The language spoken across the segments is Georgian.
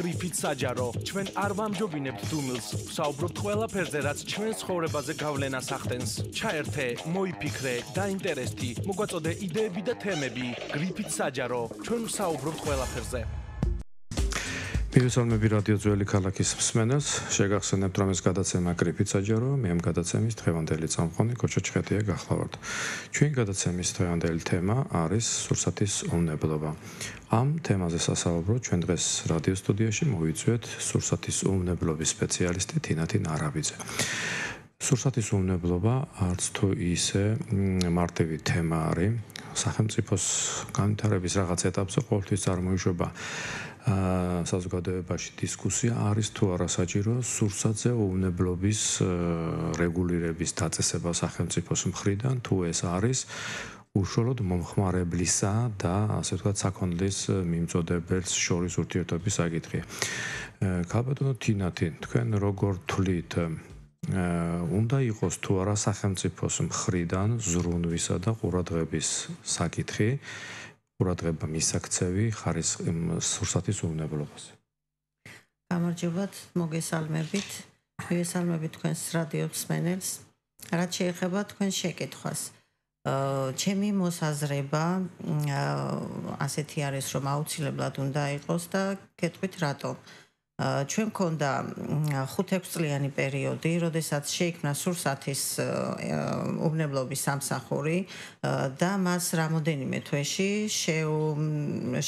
გრიფით საჯარო. ჩვენ არ ვამჯობინებთ დუმილს, ვსაუბრობთ ყველაფერზე, რაც ჩვენ ცხოვრებაზე გავლენას ახდენს. ჩაერთე, მოიფიქრე, დაინტერესდი, მოგვაწოდე იდეები და თემები. გრიფით საჯარო. ჩვენ ვსაუბრობთ ყველაფერზე. მივესალმები რადიო ძველი ქალაქის მსმენელს, შეგახსენებთ რომ ეს გადაცემა გრიფით საჯარო, მე ამ გადაცემის დღევანდელი წამყვანი კოჩა ჩხეტია გახლავართ. ჩვენი გადაცემის დღევანდელი თემა არის სურსათის უვნებლობა. ამ თემაზე სასაუბროდ ჩვენ დღეს რადიო სტუდიაში მოვიწვიეთ სურსათის უვნებლობის სპეციალისტი თინათინ არაბიძე. სურსათის უვნებლობა არც თუ ისე მარტივი თემა არის, სახელმწიფოს განვითარების რაღაც ეტაპზე ყოველთვის წარმოიშვება საზოგადოებაში დისკუსია არის თუ არა საჭირო სურსათზე უვნებლობის რეგულირების დაწესება სახელმწიფოს მხრიდან, თუ ეს არის უშუალოდ მომხმარებლისა და ასე ვთქვათ საქონლის მიმწოდებელს შორის ურთიერთობის საკითხი. ქალბატონო თინათინ, თქვენ როგორ თვლით, უნდა იყოს თუ არა სახელმწიფოს მხრიდან ზრუნვისა და ყურადღების საკითხი, ყურადღება მისაქცევი ხარისხი სურსათის უვნებლობაზე. გამარჯობათ, მოგესალმებით. მივესალმებით თქვენს რადიო მსმენელს. რაც შეეხება თქვენ შეკითხვას. ჩემი მოსაზრება ასეთი არის, რომ აუცილებლად უნდა იყოს და გეტყვით რატომ. ჩვენ გქონდა 5-6 წლიანი პერიოდი, როდესაც შეიქმნა სურსათის უვნებლობის სამსახური და მას რამოდენიმე თვეში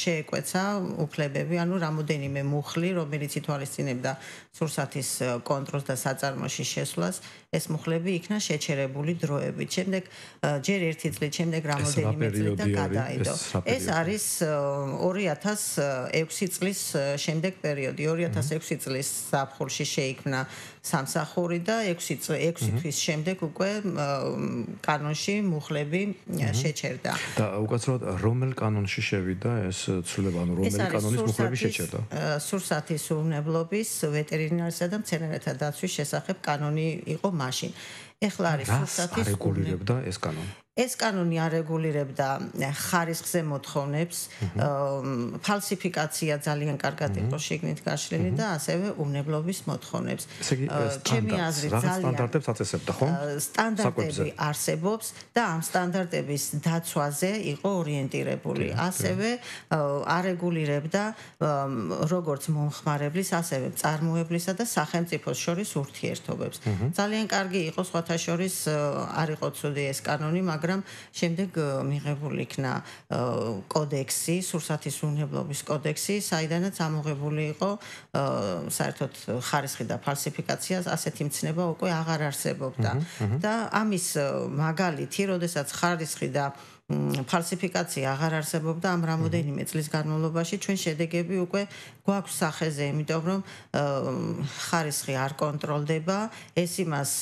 შეეკვეცა უფლებები, ანუ რამოდენიმე მუხლი, რომელიც ითვალისწინებდა სურსათის კონტროლს და საწარმოში შესვლას, ეს მუხლები იქნა შეჩერებული დროებით. შემდეგ ჯერ ერთი წლით, შემდეგ რამოდენიმე წლით და გადაიდო. ეს არის 2006 წლის შემდეგ პერიოდი. 2006 წლის ზაფხულში შეიქმნა სამსახური და 6 თვის შემდეგ უკვე კანონში მუხლები შეჩერდა. და უკაცრავად რომელ კანონში შევიდა ეს ცვლილება, ანუ რომელი კანონის მუხლები შეჩერდა? სურსათის უვნებლობის, ვეტერინარისა და მცენარეთა დაცვის შესახებ კანონი იყო მაშინ. ეხლა არის სურსათის რეგულირებდა ეს კანონი. ეს კანონი არეგულირებდა ხარისხზე მოთხოვნებს, ფალსიფიკაცია ძალიან კარგად იყო შიგნით გაშლილი და ასევე უვნებლობის მოთხოვნებს. ჩემი აზრით ძალიან სტანდარტებს აწესებდა, ხო? სტანდარტები არსებობს და ამ სტანდარტების დაცვაზე იყო ორიენტირებული. ასევე არეგულირებდა როგორც მომხმარებლის, ასევე მწარმოებლისა და სახელმწიფოს შორის ურთიერთობებს. ძალიან კარგი იყო სხვათა შორის არ იყო ცუდი ეს კანონი, მაგრამ შემდეგ მიღებული იქნა კოდექსი, სურსათის უვნებლობის კოდექსი, საიდანაც ამოღებული იყო საერთოდ ხარისხი და ფალსიფიკაცია, ასეთი მცნება უკვე აღარ არსებობდა. და ამის მაგალითი, როდესაც ხარისხი და ფალსიფიკაცია აღარ არსებობდა ამ რამოდენიმე წლის განმავლობაში, ჩვენ შედეგები უკვე გვაქვს სახეზე, იმიტომ რომ ხარისხი არ კონტროლდება, ეს იმას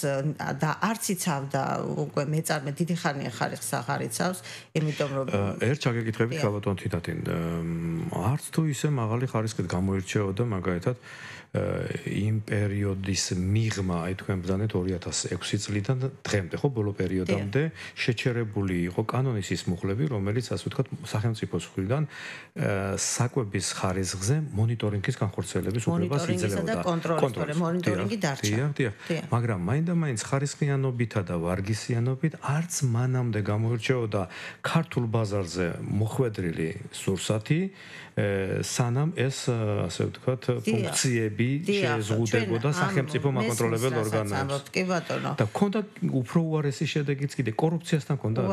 და არც იცავდა უკვე მეწარმე დიდი ხანია ხარისხს აღარ იცავს, იმიტომ რომ ერთ ჩაგეკითხებით ქალბატონ თინათინ, არც თუ ისე მაღალი ხარისხით გამოირჩეოდა მაგალითად იმ პერიოდის მიღმა, აი თქვენ ბრძანეთ 2006 წლიდან დღემდე, ხო, ბოლო პერიოდამდე შეჩერებული იყო კანონის ის მუხლები, რომელიც ასე ვთქვათ სახელმწიფოს მხრიდან საკვების ხარისხზე მონიტორინგის განხორციელების უფლებას იძლეოდა. მონიტორინგი დარჩა. მაგრამ მაინდა-მაინც ხარისხიანობითა და ვარგისიანობით არც მანამდე გამოირჩეოდა ქართულ ბაზარზე მოხვედრილი სურსათი, სანამ ეს ასე ვთქვათ ფუნქციები შეზღუდებოდა სახელმწიფო მაკონტროლებელ ორგანოებს. კი ბატონო. და ქონდა უფრო უარესი შედეგიც კიდე კორუფციასთან ქონდა.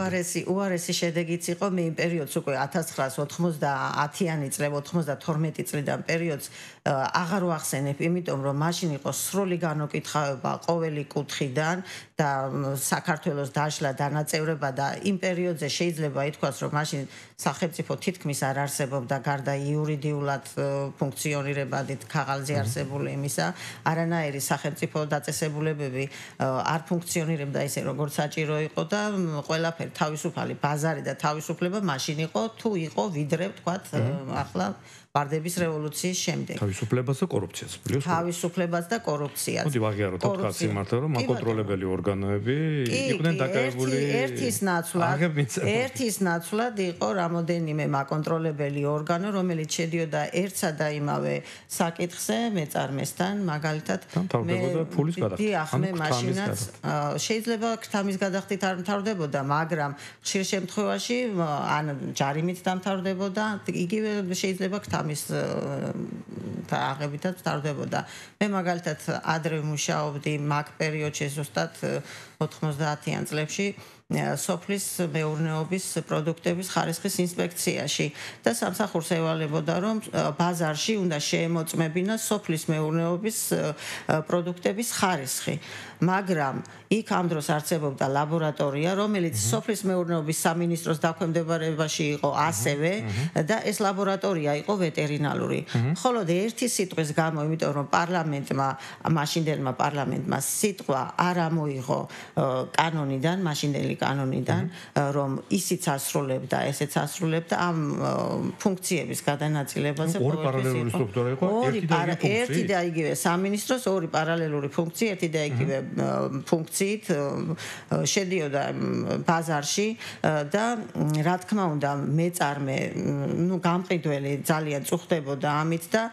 უარესი შედეგიც იყო მე იმ პერიოდს უკვე 1990-იანი წლები 92 წლიდან პერიოდს აღარ ვახსენებ, იმიტომ რომ მაშინ იყო სრული განუკითხავება ყოველი კუთხიდან და საქართველოს დაშლა დანაწევრება და იმ პერიოდზე შეიძლება ითქვას, რომ მაშინ სახელმწიფო თითქმის არ არსებობდა გარდა იურიდიულად ფუნქციონირებადით ქაღალდზე არსებული იმისა, არანაირი სახელმწიფო დაწესებულებები არ ფუნქციონირებდა ისე როგორც საჭირო იყო და ყველაფერი თავისუფალი ბაზარი და თავისუფლება მაშინ იყო თუ იყო ვიდრე ვთქვათ ახლა ვარდების რევოლუციის შემდეგ. თავისუფლებას და კორუფციას. თავისუფლებას და კორუფციას. მოდი ვაღიაროთ თქვა სიმართლე, რომ მაკონტროლებელი ორგანოები იყვნენ დაკავებული ერთის ნაცვლად იყო რამოდენიმე მაკონტროლებელი ორგანო, რომელიც შედიოდა ერთსა და იმავე საკითხზე მეწარმესთან, მაგალითად მე მაშინაც შეიძლება ქრთამის გადახდით არ მთავრდებოდა, მაგრამ ხშირ შემთხვევაში ან ჯარიმით დამთავრდებოდა, იგივე შეიძლება ქრთამის აღებითაც მთავრდებოდა. მე მაგალითად ადრე მუშაობდი მაგ პერიოდში ზუსტად 90-იან წლებში სოფლის მეურნეობის პროდუქტების ხარისხის ინსპექციაში და სამსახურს ევალებოდა რომ ბაზარში უნდა შეემოწმებინა სოფლის მეურნეობის პროდუქტების ხარისხი, მაგრამ იქ ამ დროს არსებობდა ლაბორატორია, რომელიც სოფლის მეურნეობის სამინისტროს დაქვემდებარებაში იყო ასევე და ეს ლაბორატორია იყო ვეტერინალური. მხოლოდ ერთი სიტყვის გამო, იმიტომ რომ მაშინდელმა პარლამენტმა სიტყვა არ ამოიღო კანონიდან, მაშინდელი კანონიდან, რომ ისიც ასრულებდა, ესეც ასრულებდა ამ ფუნქციების გადანაწილებაზე. ორი პარალელური სტრუქტურა იყო, ერთი და იგივე სამინისტროს ორი პარალელური ფუნქცია, ერთი და იგივე ფუნქციით შედიოდა ბაზარში და რა თქმა უნდა მეწარმე, გამყიდველი ძალიან წუხდებოდა ამით და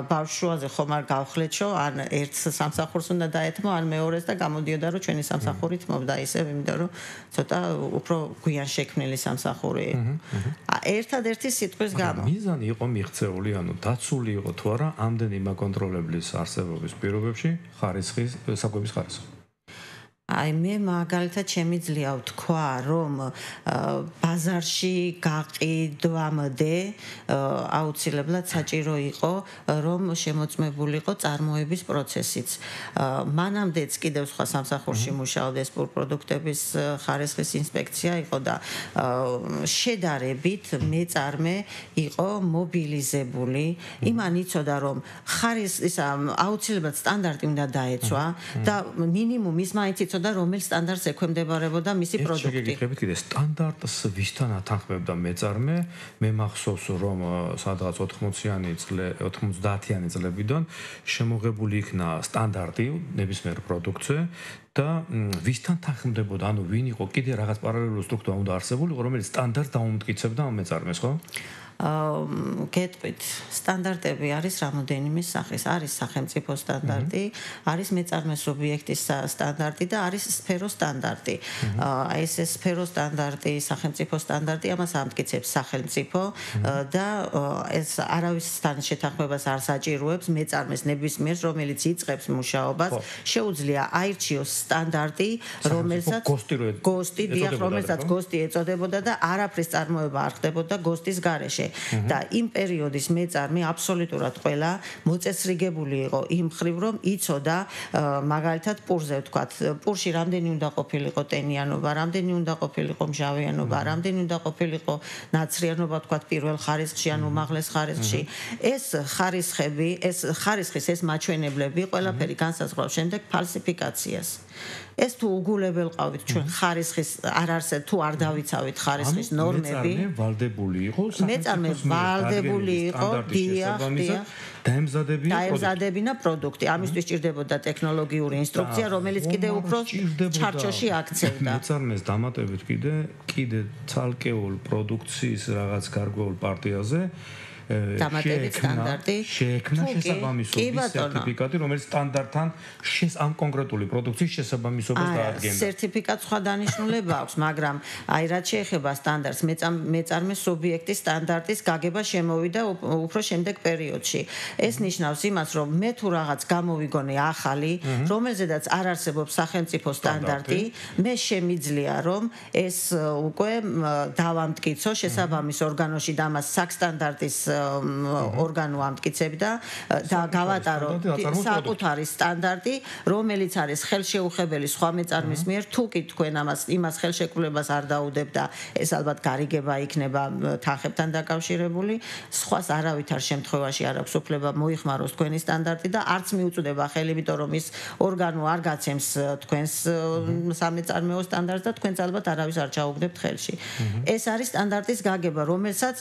ბავშვშუაზე ხომ არ გავხლეთშო, ან ერთს სამსახურს უნდა დაეთმო, ან მეორეს და გამოდიოდა რომ ჩვენი სამსახურით მოვდა ისევ, იმიტომ რომ ცოტა უფრო გვიან შექმნილი სამსახური. ერთადერთი სიტყვის გამო. მიზანი იყო მიღწეული, ანუ დაცული იყო თუ არა ამდენი მაკონტროლებლის არსებობის პირობებში ხარისხის, საკვების ხარისხი. აი მე მაგალითად შემიძლია ვთქვა, რომ ბაზარში გაყიდვამდე აუცილებლად საჭირო იყო, რომ შემოწმებულიყო წარმოების პროცესიც. მანამდეც კიდევ სხვა სამსახურში მუშაობდა სპორტპროდუქტების ხარისხის ინსპექცია იყო და შედარებით მეწარმე იყო მობილიზებული. იმან იცოდა, რომ ხარისხის აუცილებლად სტანდარტი უნდა დაეცვა და მინიმუმ ის მაინც და რომელ სტანდარტს ექვემდებარებოდა მისი პროდუქტი. შეგეკითხებით კიდე სტანდარტს ვისთან ათანხმებდა მეწარმე? მე მახსოვს რომ სადღაც 90-იანი წლებიდან შემოღებული იქნა სტანდარტი ნებისმიერ პროდუქტზე და ვისთან თანხმდებოდა, ანუ ვინ იყო კიდე რაღაც პარალელური სტრუქტურა უნდა არსებულიყო, რომელიც სტანდარტს დაუმტკიცებდა ამ მეწარმეს, ხო? გეტყვით, სტანდარტები არის რამოდენიმე სახის. არის სახელმწიფო სტანდარტი, არის მეწარმე სუბიექტის სტანდარტი და არის სფეროს სტანდარტი. ეს სფეროს სტანდარტი, სახელმწიფო სტანდარტი, ამას ამტკიცებს სახელმწიფო და ეს არავისთან შეთანხმებას არ საჭიროებს მეწარმეს ნებისმიერს, რომელიც იწყებს მუშაობას, შეუძლია აირჩიოს სტანდარტი, რომელსაც გოსტი ეწოდებოდა და არაფრის წარმოება არ ხდებოდა გოსტის გარეშე. და იმ პერიოდის მეწარმე აბსოლუტურად ყველა მოწესრიგებული იყო იმ ხრივ, რომ იცოდა მაგალითად პურზე ვთქვათ, პურში რამდენი უნდა ყოფილიყო ტენიანობა, რამდენი უნდა ყოფილიყო მჟავიანობა, რამდენი უნდა ყოფილიყო ნაცრიანობა ვთქვათ პირველ ხარისხში ან უმაღლეს ხარისხში. ეს ხარისხები, ეს მაჩვენებლები ყველაფერი განსაზღვრავს შემდეგ ფალსიფიკაციას. ეს თუ უგულებელ ყავით ჩვენ ხარისხის არ არსებობს თუ არ დავიცავით ხარისხის ნორმები. მეწარმე ვალდებული იყო დაემზადებინა პროდუქტი. ამისთვის ჭირდებოდა ტექნოლოგიური ინსტრუქცია, რომელიც კიდევ უფრო ჩარჩოში აქცევდა. მეწარმეს დამატებით კიდე ცალკეულ პროდუქციის რაღაც გარკვეულ პარტიაზე დამატებით სტანდარტი შეექმნა შესაბამისობის სერტიფიკატი, რომელიც სტანდარტთან ამ კონკრეტული პროდუქციის შესაბამისობას დაადგენდა. სერტიფიკატ სხვა დანიშნულება აქვს, მაგრამ აი რაც შეეხება სტანდარტს, მეწარმე სუბიექტის სტანდარტის გაგება შემოვიდა უფრო შემდეგ პერიოდში. ეს ნიშნავს იმას, რომ მე თუ რაღაც გამოვიგონე ახალი, რომელზედაც არ არსებობს სახელმწიფო სტანდარტი, მე შემიძლია რომ ეს უკვე დავამტკიცო შესაბამის ორგანოში და მას საკსტანდარტის ორგანო ამტკიცებდა და გავატარო საკუთარი სტანდარტი, რომელიც არის ხელშეუხებელი სხვა მეწარმის მიერ, თუ კი თქვენ იმას ხელშეკრულებას არ დაუდებდა, ეს ალბათ გარიგება იქნება თანხებთან დაკავშირებული, სხვას არავითარ შემთხვევაში არ აქვს უფლება მოიხმაროს თქვენი სტანდარტი და არც მიუწვდება ხელი, იმიტომ რომ ის ორგანო არ გაცემს თქვენს სამეწარმეო სტანდარტს და თქვენც ალბათ არავის არ ჩაუგდებთ ხელში. ეს არის სტანდარტის გაგება, რომელსაც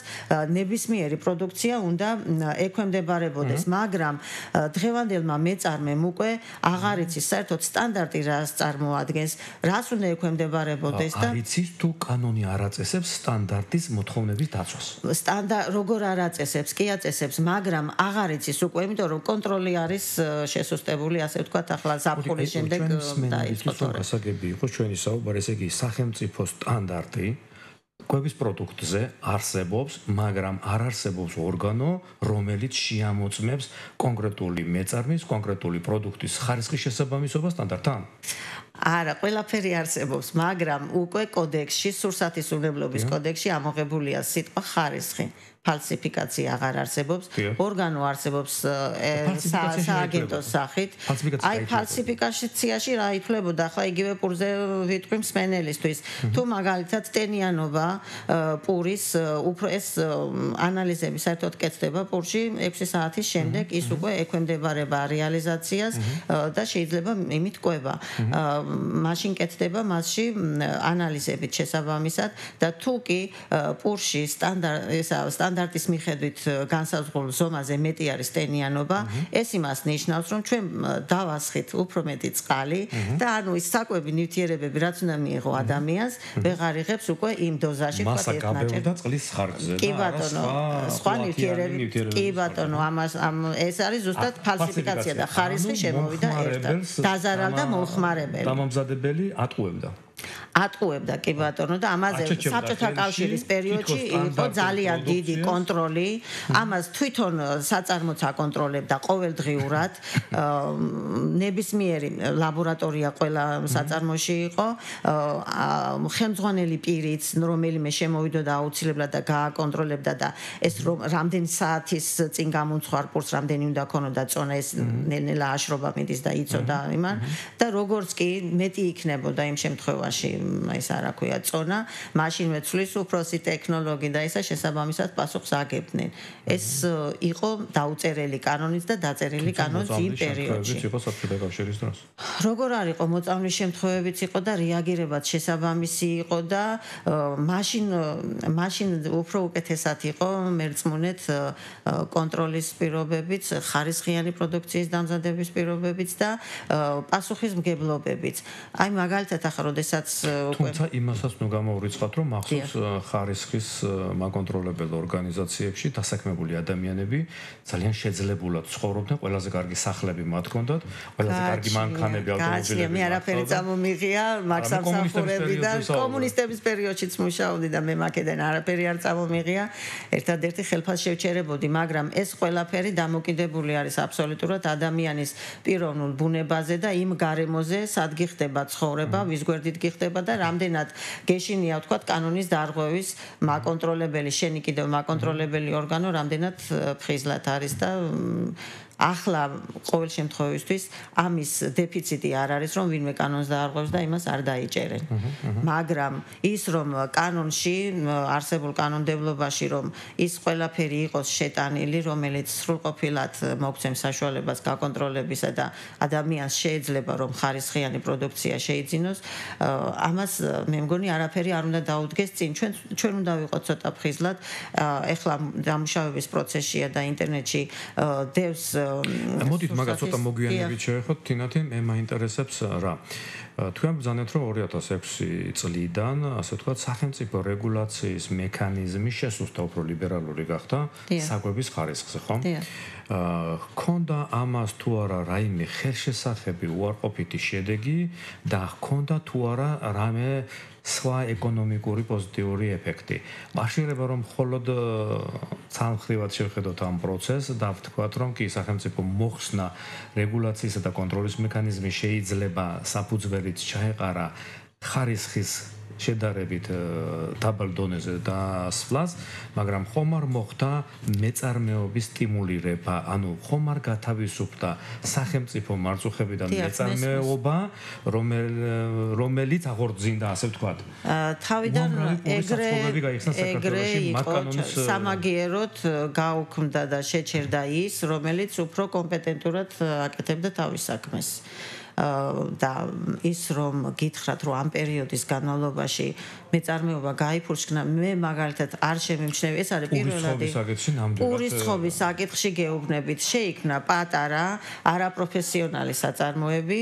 ნებისმიერი პროდუქტი პროდუქცია უნდა ექვემდებარებოდეს, მაგრამ დღევანდელმა მეწარმემ უკვე აღარ იცის საერთოდ სტანდარტი რას წარმოადგენს, რას უნდა ექვემდებარებოდეს და არ იცის თუ კანონი არ აწესებს სტანდარტის მოთხოვნების დაცვას. როგორ არ აწესებს, კი აწესებს, მაგრამ აღარ იცის უკვე, იმიტომ რომ კონტროლი არის შესუსტებული, ასე ვთქვათ, ახლა ზაფხულის შემდეგ დაიწყო თორე. გასაგები იყო ჩვენი საუბარი, ესე იგი სახელმწიფო სტანდარტი კვების პროდუქტზე არსებობს, მაგრამ არ არსებობს ორგანო, რომელიც შეამოწმებს კონკრეტული მეწარმის, კონკრეტული პროდუქტის ხარისხის შესაბამისობას სტანდარტთან. არა, ყველაფერი არსებობს, მაგრამ უკვე კოდექსში, სურსათისმებლობის კოდექსში ამოღებულია სიტყვა ხარისხი. ფალსიფიკაცია აღარ არსებობს, ორგანო არსებობს სააგენტოს სახით. აი ფალსიფიკაციაში რა ითვლებოდა, ახლა იგივე პურზე ვიტყვი მსმენელისთვის. თუ მაგალითად ტენიანობა პურის უფრო ეს ანალიზები საერთოდ კეთდება პურში 6 საათის შემდეგ, ის უკვე ექვემდებარება რეალიზაციას და შეიძლება იმით კვება. მაშინ კეთდება მასში ანალიზებით შესაბამისად და თუ კი პურში სტანდარტის მიხედვით განსაზღვრულ ზომაზე მეტი არის ტენიანობა, ეს იმას ნიშნავს, რომ ჩვენ დავასხით უფრო მეტი წყალი და ანუ ის საკვები ნივთიერებები, რაც უნდა მიიღო ადამიანს, ვეღარ იღებს უკვე იმ დოზაში, მასა გაბევდა წყლის ხარჯზე და კი ბატონო, სხვა ნივთიერები, კი ბატონო, ეს არის ზუსტად ფალსიფიკაცია და ხარისხი შემოვიდა ერთად. დაზარალდა მომხმარებელი. დამამზადებელი ატყუებდა კი ბატონო და ამაზე საბჭოთა კავშირის პერიოდში იყო ძალიან დიდი კონტროლი, ამას თვითონ საწარმოც აკონტროლებდა ყოველდღიურად, ნებისმიერი ლაბორატორია ყველა საწარმოში იყო, ხელმძღვანელი პირიც, რომელიმე შემოვიდოდა აუცილებლად და გააკონტროლებდა და ეს რამდენი საათის წინ გამომცხარ პურს რამდენი უნდა ქონოდა წონა, ეს ნელ-ნელა აშრობა მიდის და იწოდა იმან და როგორც კი მეტი იქნებოდა იმ შემთხვევაში ეს არა ქვია წონა, მაშინვე ცვლის უფროსი ტექნოლოგი და ისა შესაბამისად პასუხს აგებდნენ. ეს იყო დაუწერელი კანონიც და დაწერილი კანონიც იმ პერიოდში. როგორ არ იყო მოწამვლის შემთხვევებიც იყო და რეაგირებაც შესაბამისი იყო და მაშინ უფრო უკეთესად იყო მერწმუნეთ კონტროლის პირობებიც, ხარისხიანი პროდუქციის დამზადების პირობებიც და პასუხისმგებლობებიც. აი მაგალითად ახლა როდესაც თუმცა იმასაც ნუ გამოვრიცხავთ, რომ მახსოვს ხარისხის მაკონტროლებელ ორგანიზაციებში დასაქმებული ადამიანები ძალიან შეძლებულად ცხოვრობდნენ, ყველაზე კარგი სახლები მათ ჰქონდათ, ყველაზე კარგი მანქანები, ავტომობილები. მე არაფერი წამომიღია მაქსამსახურებიდან, კომუნისტების პერიოდშიც მუშაობდი და მე მაკედან არაფერი არ წამომიღია. ერთადერთი ხელფას შევჩერებოდი, მაგრამ ეს ყველაფერი დამოკიდებული არის აბსოლუტურად ადამიანის პიროვნულ ბუნებაზე და იმ გარემოზე, სადღი ხდება ცხოვრება, ვის გვერდით გიხდება და რამდენად გეშინია ვთქვათ კანონის დარღვევის მაკონტროლებელი, შენი კიდევ მაკონტროლებელი ორგანო რამდენად ფხიზლად არის და ახლა ყოველ შემთხვევისთვის ამის დეფიციტი არ არის, რომ ვინმე კანონს დაარღვევს და იმას არ დაიჭერენ. მაგრამ ის რომ კანონში, არსებულ კანონმდებლობაში რომ ის ყველაფერი იყოს შეტანილი, რომელიც სრულყოფილად მოგცემს საშუალებას გაკონტროლებისა და ადამიანს შეიძლება რომ ხარისხიანი პროდუქცია შეიძინოს, ამას მე მგონი არაფერი არ უნდა დაუდგეს წინ. ჩვენ უნდა ვიყოთ ცოტა ფხიზლად. ეხლა დამუშავების პროცესშია და ინტერნეტში დევს მოდით მაგას ცოტა მოგვიანებით შევეხოთ, თინათინ მე მაინტერესებს რა. თქვენ ბრძანეთ, რომ 2006 წლიდან, ასე ვთქვათ, სახელმწიფო რეგულაციის მექანიზმი შესუსტა უფრო ლიბერალური გახდა საკვების ხარისხზე, ხო? ჰქონდა ამას თუ არა რაიმე ხელშესახები უარყოფითი შედეგი და ჰქონდა თუ არა რამე სხვა ეკონომიკური პოზიტიური ეფექტი. მაშინება რომ მხოლოდ ცალმხრივად შევხედოთ ამ პროცესს და ვთქვათ, რომ კი სახელმწიფო მოხსნა რეგულაციისა და კონტროლის მექანიზმი შეიძლება საფუძველით ჩაეყარა ხარისხის შედარებით დაბალ დონეზე დასვლას, მაგრამ ხომ არ მოხდა მეწარმეობის სტიმულირება, ანუ ხომ არ გათავისუფლდა სახელმწიფო მარწუხებიდან მეწარმეობა, რომელიც აღორძინდა, ასე ვთქვათ. თავიდან ეგრე სამაგიეროდ გაუქმდა და შეჩერდა ის, რომელიც უფრო კომპეტენტურად აკეთებდა თავის საქმეს. და ის რომ გითხრათ რომ ამ პერიოდის განმავლობაში მეწარმეობა გაიფურჩქნა მე მაგალითად არ შემიმჩნევი ეს არის პირველადი პურის ცხობის საკითხში გეუბნებით შეიქმნა პატარა არაპროფესიონალი საწარმოები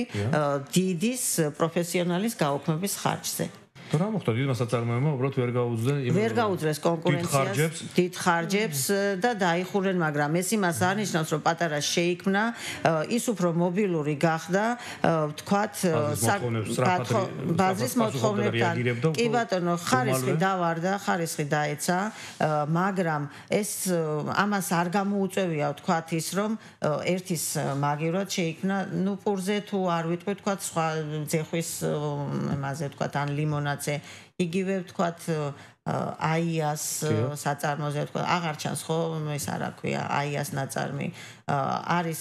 დიდის პროფესიონალის გაუქმების ხარჯზე რა მოხდა დიდმა საწარმოებმა უბრალოდ ვერ გაუძლეს კონკურენციას დიდ ხარჯებს და დაიხურნენ მაგრამ ეს იმას არნიშნავს რომ პატარა შეიქმნა ის უფრო მობილური გახდა თქვათ ბაზრის მოთხოვნებთან კი ბატონო ხარისხი დავარდა ხარისხი დაეცა მაგრამ ეს ამას არ გამოუწევია თქვათ ის რომ ერთის მაგივრად შეიქმნა ნუ პურზე თუ არ ვიტყვი თქვათ სხვა ძეხვის იმაზე თქვათ ან ლიმონად იგივე ვთქვათ აიას საწარმოზე ვთქვათ აღარ ჩანს ხო ეს არა ქვია აიას ნაწარმი არის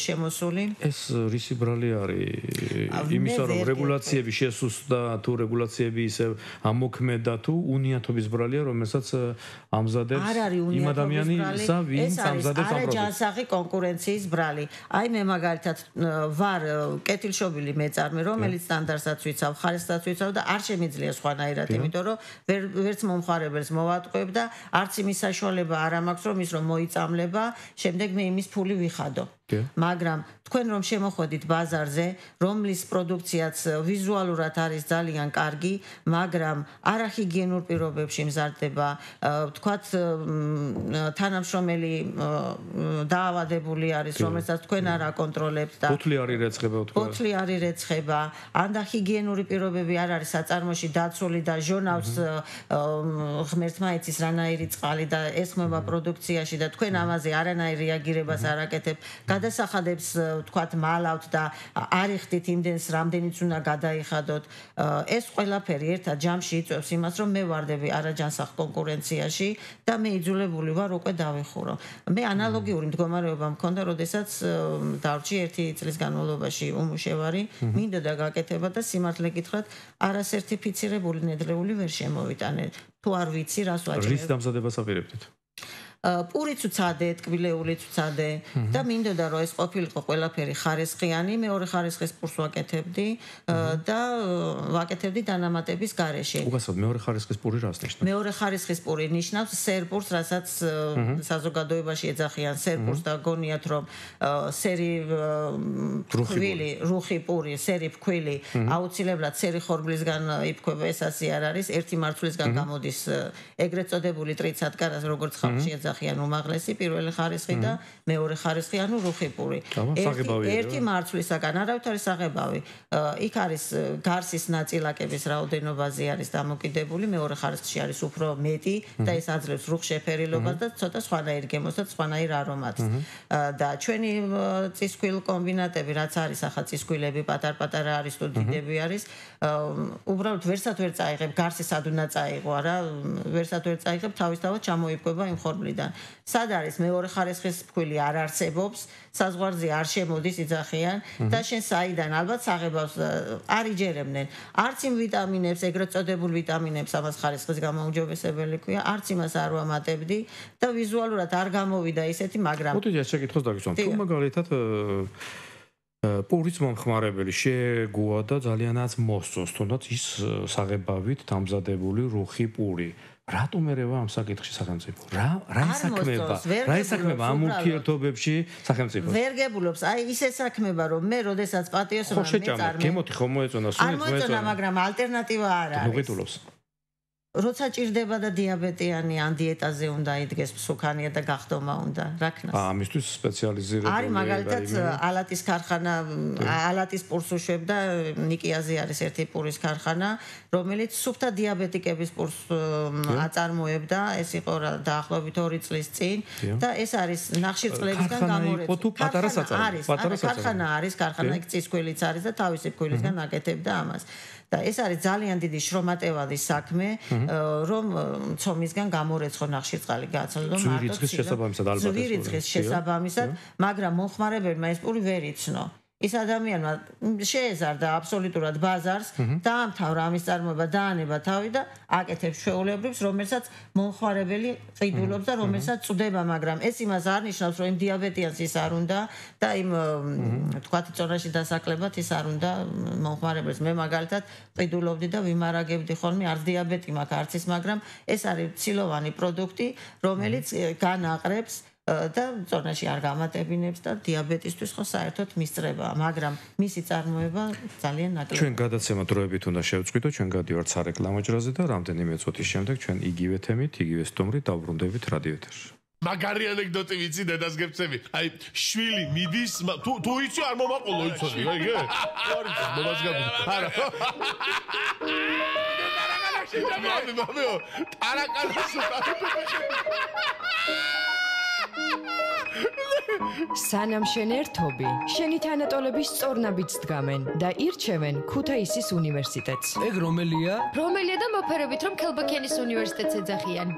შემოსული ეს რისი ბრალი არის იმისა რომ რეგულაციები შესუსტდა თუ რეგულაციები ისე ამოქმედა თუ უნიათობის ბრალია რომელსაც ამზადებს იმ ადამიანისა ვინც ამზადებს ამ პროდუქტს ჯანსაღი კონკურენციის ბრალი აი მე მაგალითად ვარ კეთილშობილი მეწარმე რომელიც სტანდარტსაც ვიცავ ხარისხსაც ვიცავ და არ შემიძლია სხვანაირად იმიტომ რომ ვერც მომხმარებელს მოვატყუებ და არც იმის საშუალება არ მაქვს რომ ის რომ მოიწამლება შემდეგ მე იმის ფული ვიხადო მაგრამ თქვენ რომ შემოხვედით ბაზარზე რომლის პროდუქციაც ვიზუალურად არის ძალიან კარგი მაგრამ არახიგიენურ პირობებში მზადდება თქვათ თანამშრომელი დაავადებული არის რომელსაც თქვენ არ აკონტროლებთ და ბოთლი არის რეცხება თქვა ბოთლი არის რეცხება ან და ჰიგიენური პირობები არ არის საწარმოში დაცული და ჟონავს ღმერთმა იცის რანაირი წყალი და ესხმება პროდუქციაში და თქვენ ამაზე არანაირ რეაგირებას არ აკეთებთ გადასახადებს თქვათ მალავთ და არიხდით იმდენს რამდენიც უნდა გადაიხადოთ ეს ყველაფერი ერთად ჯამში იწვევს იმას რომ მე ვარდები არაჯანსაღ კონკურენციაში და მე იძულებული ვარ უკვე დავიხურო მე ანალოგიური მდგომარეობა მქონდა როდესაც დავრჩი 1 წლის განმავლობაში უმუშევარი მინდოდა გაკეთება და სიმართლე გითხრათ არასერტიფიცირებული ნედლეული ვერ შემოვიტანე თუ არ ვიცი რას ვაჭრებ რის დამზადებას აპირებდით პურიც უცადე, ტკბილეულიც უცადე და მინდოდა რომ ეს ყოფილიყო ყველაფერი ხარისხიანი, მეორე ხარისხის პურს ვაკეთებდი და ვაკეთებდი დანამატების გარეშე. უგასოდ მეორე ხარისხის პური რას ნიშნავს? მეორე ხარისხის პური ნიშნავს სერპურს, რასაც საზოგადოებაში ეძახიან სერპურს და გონიათ რომ სერი რუხი პური, სერი ფქვილი აუცილებლად სერი ხორბლისგან იფქვება, ეს ასე არ არის, ერთი მარცვლისგან გამოდის ეგრეთ წოდებული ტრიცატკარას როგორც ხალხში ეძახიან უმაღლესი პირველი ხარისხი და მეორე ხარისხი ანუ რუხი პური. ერთი მარცვლისაგან არავითარი საღებავი. იქ არის გარსის ნაწილაკების რაოდენობაზე არის დამოკიდებული, მეორე ხარისხში არის უფრო მეტი და ეს აძლევს რუხ შეფერილობას და ცოტა სხვანაირ გემოს და სხვანაირ არომატს. და ჩვენი წისქვილ კომბინატები რაც არის ახლა წისქვილები პატარ-პატარა არის თუ დიდები არის, უბრალოდ ვერსად ვერ წაიღებ გარსი სად უნდა წაიღო არა, ვერსად ვერ წაიღებ თავისთავად ჩამოიფკვება იმ ხორბლიდან. სად არის მეორე ხარისხის ფქვილი არ არსებობს, საზღვარზე არ შემოდის იძახიან და შენ საიდან ალბათ საღებავს არ იჯერებდნენ. არც იმ ვიტამინებს, ეგრეთ წოდებულ ვიტამინებს ამას ხარისხის გამოუმჯობესებელი ქვია, არც იმას არ ვამატებდი და ვიზუალურად არ გამოვიდა ისეთი, მაგრამ მოდით ეს შეკითხვას დაგისვამ. თუ მაგალითად პურის მომხმარებელი შეგუა და ძალიანაც მოსწონს, თუნდაც ის საღებავით დამზადებული რუხი პური. რატომ ერევა ამ საკითხში სახელმწიფო? რა ისაქმება ამ ურთიერთობებში სახელმწიფო? ვერ გებულობს, აი ისე საქმება, რომ მე როდესაც პატიოსობა მეწარმე. გემოთი ხომ მოეწონა, სულით მოეწონა. არ მოეწონა, მაგრამ ალტერნატივა არ არის. ნუ გიტულობს. როცა ჭირდება და დიაბეტიანი ან დიეტაზე უნდა იდგეს მსუქანია და გახდომა უნდა, რა ქნას? ამისთვის სპეციალიზირებული არის მაგალითად ალატის ქარხანა, ალატის პურს უშვებდა, ნიკიაზე არის ერთი პურის ქარხანა, რომელიც სუფთა დიაბეტიკების პურს აწარმოებდა, ეს იყო დაახლოებით 2 წლის წინ და ეს არის ნახშირწყლებისგან გამორეცული. ქარხანა არის, ქარხანა იქ წისქვილიც არის და თავისი ფქვილისგან აკეთებდა ამას. და ეს არის ძალიან დიდი შრომატევადის საქმე, რომ ცომისგან გამორეცხო ნახშირწყალი გააცნო მარტო ცივი რიცხვის შესაბამისად, მაგრამ მომხმარებელმა ეს პური ვერ იცნო. ის ადამიანმა შეეზარდა აბსოლუტურად ბაზარს, დაამთავრა ამის წარმოება, დაანება თავი და აკეთებს ჩვეულებრივს, რომელსაც მომხმარებელი ყიდულობს და რომელსაც წვდება, მაგრამ ეს იმას არ ნიშნავს, რომ იმ დიაბეტიანს ის არ უნდა და იმ თქვათ წონაში დასაკლებად ის არ უნდა მომხმარებელს. მე მაგალითად ყიდულობდი და ვიმარაგებდი ხოლმე, არც დიაბეტი მაქვს, არც ის, მაგრამ ეს არის ცილოვანი პროდუქტი, რომელიც განაყრებს და წონაში არ გამატებინებს და დიაბეტისთვის ხო საერთოდ მისწრებაა, მაგრამ მისი წარმოება ძალიან ნაკლებია. ჩვენ გადაცემა დროებით უნდა შევწყვიტოთ, ჩვენ გადივართ სარეკლამო ჯრაზე და რამდენიმე წუთის შემდეგ ჩვენ იგივე თემით, იგივე სტუმრით დავბრუნდებით რადიო ეთერში. მაგარი ანეკდოტი ვიცი დედას გეცემი. აი, შვილი მიდის, თუ იცი არ მომაყოლო იცოდი, რა იგე? არ იცი, მომას გაბი. არა. მამეო, ტარაკანას სანამ შენ ერთობი, შენი თანატოლების სწორნაბიჯს დგამენ და ირჩევენ ქუთაისის უნივერსიტეტს. ეგ რომელია? რომელია და მოფერებით რომ ქელბაქენის უნივერსიტეტს ეძახიან.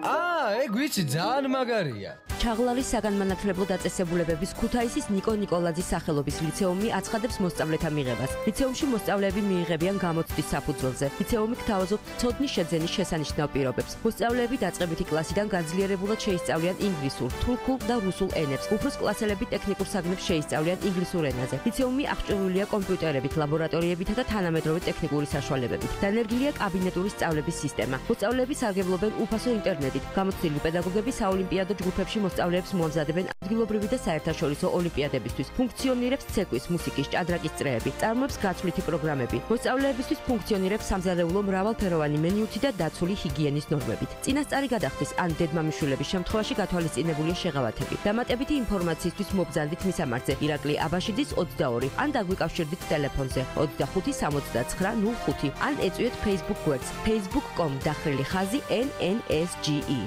ეგ ვიცი, ძალიან მაგარია. ჩაღლარის საგანმანათლებლო დაწესებულებების ქუთაისის ნიკო ნიკოლაძის სახელობის ლიცეუმი აცხადებს მოსწავლეთა მიღებას. ლიცეუმში მოსწავლეები მიიღებიან გამოცდის საფუძველზე. ლიცეუმი გთავაზობთ ცოდნის შეძენის შესანიშნავ პირობებს. მოსწავლეები დაწყებითი კლასიდან განძლიერებულად შეისწავლიან ინგლისურ, თურქულ და რუსულ ენებს. უფროს კლასელები ტექნიკურ საგნებს შეისწავლიან ინგლისურ ენაზე. ლიცეუმი აღჭურვილია კომპიუტერებით, ლაბორატორიებითა და თანამედროვე ტექნიკური საშუალებებით. დანერგილია კაბინეტური სწავლების სისტემა. მოსწავლეები სარგებლობენ უფასო ინტერნეტით. გამოცდილი პედაგოგები საოლიმპიადო ჯგუფებში მოსწავლეებს მოამზადებენ ადგილობრივი და საერთაშორისო ოლიმპიადებისთვის. ფუნქციონირებს ცეკვის, მუსიკის, ჭადრაკის წრეები, წარმოებს გაცვლითი პროგრამები. მოსწავლეებისთვის ფუნქციონირებს სამზარეულო მრავალფეროვანი მენიუთი და დაცული ჰიგიენის ნორმებით. წინასწარი გადახდის ან დედმამიშვილების შემთხვევაში გათვალისწინებულია შეღავათები. დამატებითი ინფორმაციისთვის მობზანდით მისამართზე ირაკლი აბაშიძის 22 ან დაგვიკავშირდით ტელეფონზე 25 69 05 ან ეწვიეთ Facebook გვერდს facebook.com/ხაზი NNSGE.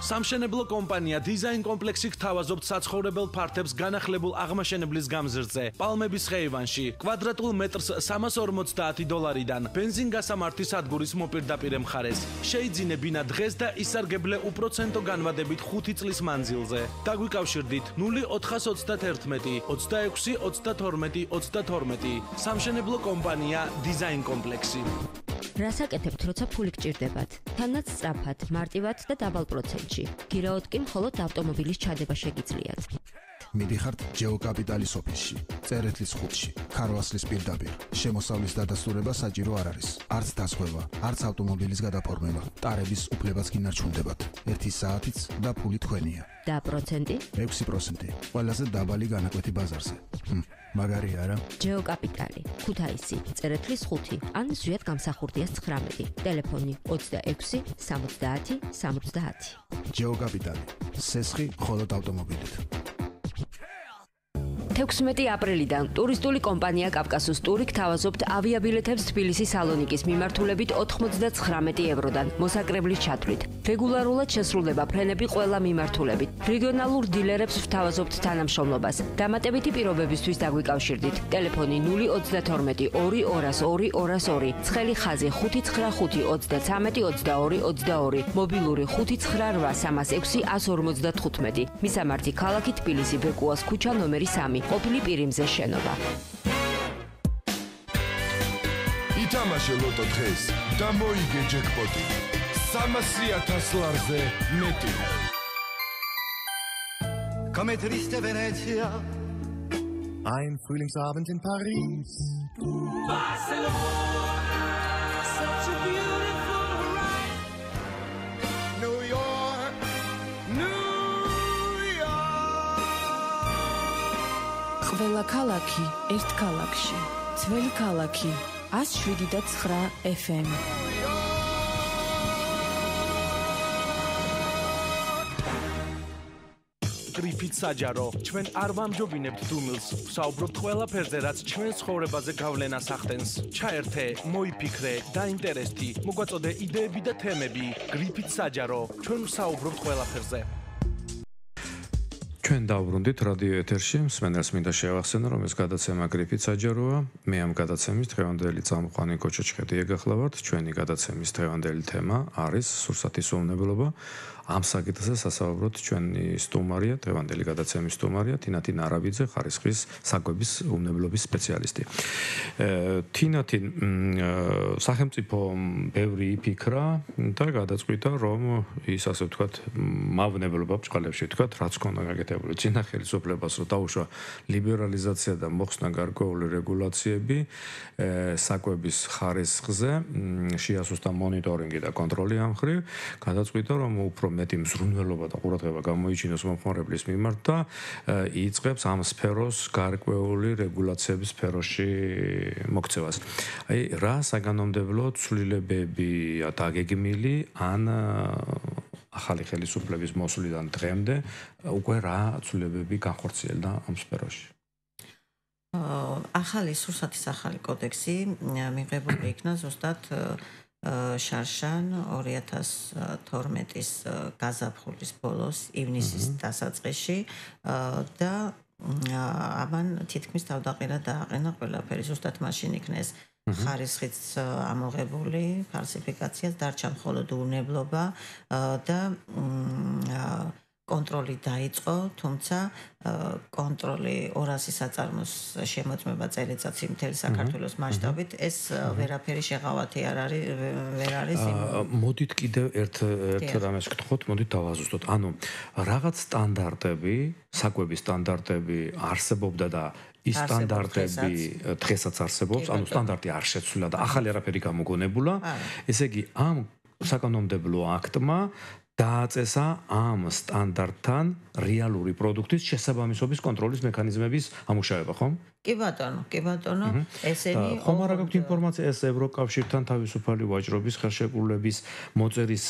სამშენებლო კომპანია დიზაინ კომპლექსი გთავაზობთ საცხოვრებელ ფართებს განახლებულ აღმაშენებლის გამზრდზე. პალმების ხეივანში კვადრატულ მეტრს $350-დან ბენზინგასამართი სადგურის მოპირდაპირე მხარეს. შეიძინებინა დღეს და ისარგებლე უპროცენტო განვადებით 5 წლის მანძილზე. დაგვიკავშირდით 0431 26 32 32. სამშენებლო კომპანია დიზაინ კომპლექსი. რასაკეთებთ, როცა ფული გჭირდებათ? თანაც სწრაფად, მარტივად და დაბალ პროცენტში. გირაოდ კი მხოლოდ ავტომობილის ჩადება შეგიძლიათ. მიდიხართ ჯეოკაპიტალის ოფისში, წერეთლის 5-ში, ქარვასლის პირდაპირ. შემოსავლის დადასტურება საჭირო არ არის. არც დასხვევა, არც ავტომობილის გადაფორმება. ტარების უფლებაც გინარჩუნდებათ. 1 საათიც და ფული თქვენია. და პროცენტი? 6%. ყველაზე დაბალი განაკვეთი ბაზარზე. მაგარია არა? ჯეოკაპიტალი, ქუთაისი, წერეთლის 5 ან ზვიად გამსახურდიას 19. ტელეფონი 26 70 70. ჯეოკაპიტალი. სესხი მხოლოდ ავტომობილით. 16 აპრილიდან ტურისტული კომპანია კავკასუს ტური გთავაზობთ ავიაბილეთებს თბილისის სალონიკის მიმართულებით 99 ევროდან მოსაკრებლის ჩათვლით. რეგულარულად შესრულდება ფრენები ყველა მიმართულებით. რეგიონალურ დილერებს ვთავაზობთ თანამშრომლობას. დამატებითი პირობებისთვის დაგვიკავშირდით. ტელეფონი 032 202 202, ცხელი ხაზი 595 33 22 22, მობილური 598 306 155. მისამართი ქალაქი თბილისი, ბეკუას ქუჩა ნომერი 3. ყოფილი პირიმზე შენობა. ითამაშე ლოტო დღეს და მოიგე ჯეკპოტი. 300,000 ლარზე მეტი. Come triste Venezia, I'm feeling savant in Paris. Barcelona, such a beautiful ride. New York, New York. ყველა ქალაქი ერთ ქალაქში. ძველი ქალაქი 107.9 FM. გრიფით საჯარო, ჩვენ არ ვამჯობინებთ დუმილს, ვსაუბრობთ ყველაფერზე, რაც ჩვენ ცხოვრებაზე გავლენას ახდენს. ჩაერთე, მოიფიქრე, დაინტერესდი, მოგვაწოდე იდეები და თემები. გრიფით საჯარო, ჩვენ ვსაუბრობთ ყველაფერზე. ჩვენ დავბრუნდით რადიო ეთერში, მსმენელს მინდა შევახსენო, რომ ეს გადაცემა გრიფით საჯაროა. მე ამ გადაცემის დღევანდელი წამყვანი კოჩოჩხეთი ეგახლავართ. ჩვენი გადაცემის დღევანდელი თემა არის სურსათის უვნებლობა. ამ საკითხზე სასაუბროთ ჩვენი სტუმარია, დღევანდელი გადაცემის სტუმარია თინათინ არაბიძე, ხარისხის საკვების უვნებლობის სპეციალისტი. თინათინ სახელმწიფო ბევრი იფიქრა და გადაწყვიტა, რომ ის ასე ვთქვათ, მავნებლობა ბჭყალებში ვთქვათ, რაც ქონდა გაკეთებული წინა ხელისუფლებას, რომ დაუშვა ლიბერალიზაცია და მოხსნა გარკვეული რეგულაციები საკვების ხარისხზე, შეასუსტა მონიტორინგი და კონტროლი ამ მხრივ, გადაწყვიტა, რომ უფრო მეტი მზრუნველობა და ყურადღება გამოიჩინოს მომხმარებლის მიმართ და იწყებს ამ სფეროს გარკვეული რეგულაციების სფეროში მოქცევას. აი, რა საგანმანათლებლო ცვლილებებია დაგეგმილი ან ახალი ხელისუფლების მოსვლიდან დღემდე უკვე რა ცვლილებები განხორციელდა ამ სფეროში? ახალი სურსათის ახალი კოდექსი მიღებული იქნა ზუსტად შარშან 2012-ის გაზაფხულის ბოლოს ივნისის დასაწყისში და ამან თითქმის თავდაყირა დააყენა ყველაფერი. ზუსტად მაშინ იქნეს ხარისხიც ამოღებული ფალსიფიკაციას, დარჩა მხოლოდ უვნებლობა და კონტროლი დაიწყო, თუმცა კონტროლი 200 საწარმოს შემოწმება წელიწადში მთელი საქართველოს მასშტაბით ეს ვერაფერი შეღავათი ვერ არის. მოდით კიდევ ერთ რამეს გთხოვთ, მოდით დავაზუსტოთ. ანუ რაღაც სტანდარტები, საკვების სტანდარტები არსებობდა და ის სტანდარტები დღესაც არსებობს, ანუ სტანდარტი არ შეცვლილა და ახალი არაფერი გამოგონებულა. ესე იგი, ამ საკანონმდებლო აქტმა დააწესა ამ სტანდარტთან რეალური პროდუქტის შესაბამისობის კონტროლის მექანიზმების ამუშავება, ხომ? კი ბატონო, ესენი ხომ არ გაქვთ ინფორმაცია ეს ევროკავშირთან თავისუფალი ვაჭრობის ხელშეკრულების მოწერის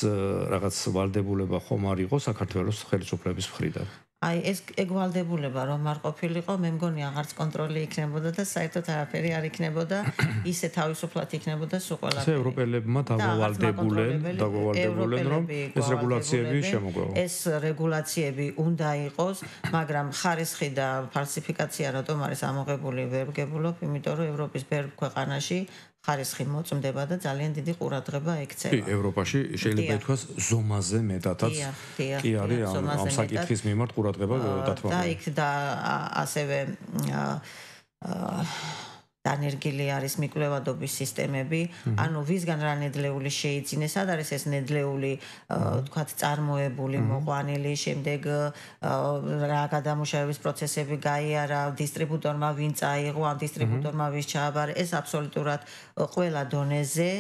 რაღაც ვალდებულება ხომ არ იყო საქართველოს ხელისუფლების მხრიდან? აი ეს ეგვალდებულება რომ არ ყოფილიყო, მე მგონი აღარც კონტროლი იქნებოდა და საერთოდ არაფერი არ იქნებოდა, ისე თავისუფლად იქნებოდა სულ ყველაფერი. ეს ევროპელებმა დაგვავალდებულენ, რომ ეს რეგულაციები შემოგვევა. ეს რეგულაციები უნდა იყოს, მაგრამ ხარისხი და ფალსიფიკაცია რატომ არის ამოღებული ვერ ვგებულობ, იმიტომ რომ ევროპის ბევრ ქვეყანაში ხარისხი მოწმდება და ძალიან დიდი ყურადღება ექცევა. კი, ევროპაში შეიძლება ითქვას ზომაზე მეტადაც კი არის ამ საკითხის მიმართ ყურადღება დათმობილი. და იქ და ასევე დანერგილი არის მიკვლევადობის სისტემები, ანუ ვისგან რა ნედლეული შეიძინეს, სად არის ეს ნედლეული, თქვათ, წარმოებული, მოყვანილი, შემდეგ რა გადამუშავების პროცესები გაიარა, დისტრიბუტორმა ვინ წაიღო, ამ დისტრიბუტორმა ვის ჩააბარა, ეს აბსოლუტურად ყველა დონეზე